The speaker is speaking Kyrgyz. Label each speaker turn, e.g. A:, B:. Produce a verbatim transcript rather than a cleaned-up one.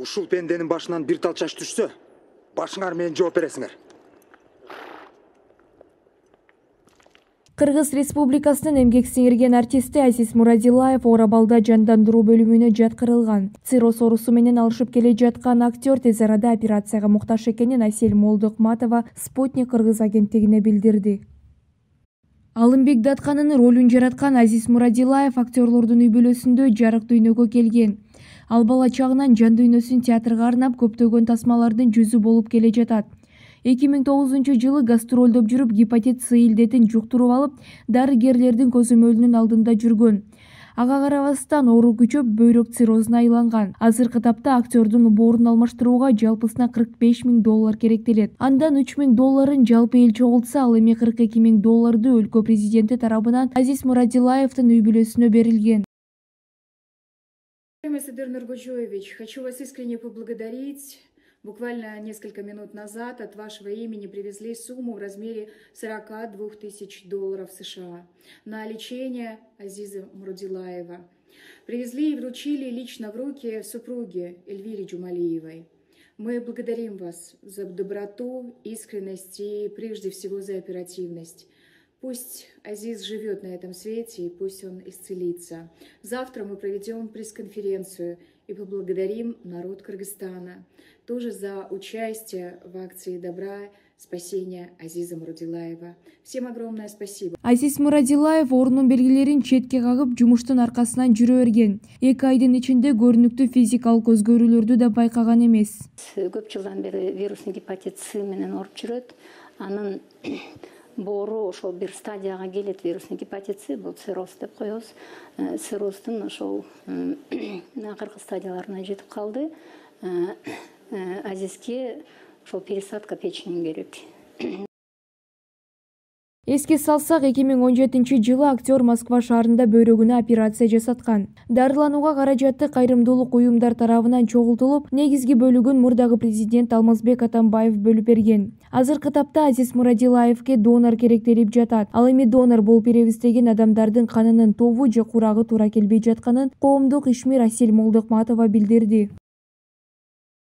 A: Ушул пенденин башынан бир тал чач түшсө, башыңар менен жооп бересиңер.
B: Кыргыз Республикасынын эмгек сиңирген артисти Азиз Мурадилаев Орабалда жандандыруу бөлүмүнө жаткырылган. Цирроз оорусу менен алышып келе жаткан актер тез арада операцияга муктаж экенин Айсель Молдукматова Спутник Кыргыз агенттигине билдирди. Алымбек Датканынын ролун жараткан Азиз Мурадилаев актерлордун үй бүлөсүндө жарык дүйнөгө келген. Ал бала чагынан жан дүйнөсүн театрга арнап көптөгөн тасмалардын жүзү болуп келе жатат. эки миң тогузунчу жылы гастролдоп жүрүп гепатит С илдетин жуктуруп алып, дарыгерлердин көзөмөлүнүн алдында жүргөн. Ага карабастан оору күчөп, бөйрөк циррозуна айланган. Азыркы тапта актердун боорун алмаштырууга жалпысына кырк беш миң доллар керектелет. Андан үч миң долларын жалпы эл чогултса, ал эми кырк эки миң долларды өлкө президенти тарабынан Азиз Мурадилаевдин үй бүлөсүнө берилген.
C: Садыр Нургожоевич, хочу вас искренне поблагодарить. Буквально несколько минут назад от вашего имени привезли сумму в размере сорока двух тысяч долларов США на лечение Азиза Мурадилаева. Привезли и вручили лично в руки супруге Эльвире Джумалиевой. Мы благодарим вас за доброту, искренность и прежде всего за оперативность. Пусть Азиз живет на этом свете и пусть он исцелится. Завтра мы проведем пресс-конференцию и поблагодарим народ Кыргызстана тоже за участие в акции добра спасения Азиза Мурадилаева. Всем огромное спасибо.
B: Азиз Мурадилаев оорунун белгилерин четке кагып, жумуштун аркасынан жүрө берген. эки айдын ичинде көрүнүктүү физикалык өзгөрүүлөрдү да байкаган эмес.
D: Көп жылдан бери вирусный гепатит С менен ооруп жүрөт. Анын боору ошол бир стадияга келет, вирусный гепатит С, бул цирроз деп коебуз. Цирроздун ошол акыркы стадияларына жетип калды. Азизге ошол пересадка печени керек.
B: Эске салсак, эки миң он жетинчи жылы актер Москва шаарында бөйрөгүнө операция жасаткан. Дарыланууга каражаты кайрымдуулук уюмдар тарабынан чогултулуп, негизги бөлүгүн мурдагы президент Алмазбек Атамбаев бөлүп берген. Азыркы тапта Азиз Мурадилаевге донор керектелип жатат. Ал эми донор болуп беребиз деген адамдардын канынын тобу же курагы туура келбей жатканын коомдук ишмер Айсель Молдукматова билдирди.